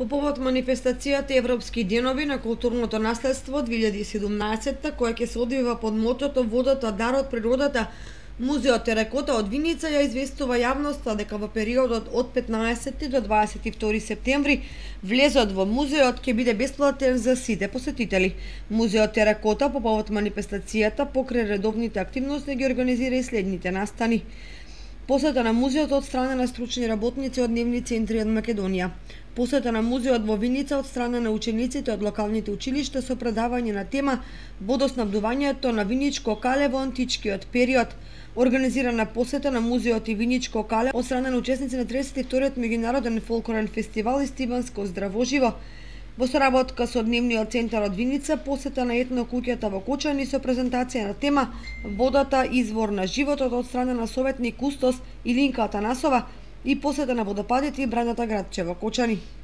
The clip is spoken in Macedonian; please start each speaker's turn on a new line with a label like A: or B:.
A: По повод манифестацијата Европски денови на културното наследство 2017, која ќе се одвива под мотото "Водата, дарот, природата", Музеот Теракота од Виница ја известува јавноста дека во периодот од 15 до 22 септември влезот во музеот ќе биде бесплатен за сите посетители. Музеот Теракота по повод манифестацијата покрај редовните активности ги организира и следните настани: посета на музеот од страна на стручни работници од дневни центри од Македонија, посета на музеот во Виница од страна на учениците од локалните училишта со предавање на тема "Водоснабдувањето на Виничко кале во античкиот период", организирана посета на музеот и Виничко кале од страна на учесници на 32-тиот меѓународен фолклорен фестивал Истиванско здравоживо, во соработка со дневниот центар од Виница, посета на етно куќата во Кочани со презентација на тема "Водата, извор на животот" од страна на советник кустос Илинка Атанасова и посета на водопадите и брајната градче во Кочани.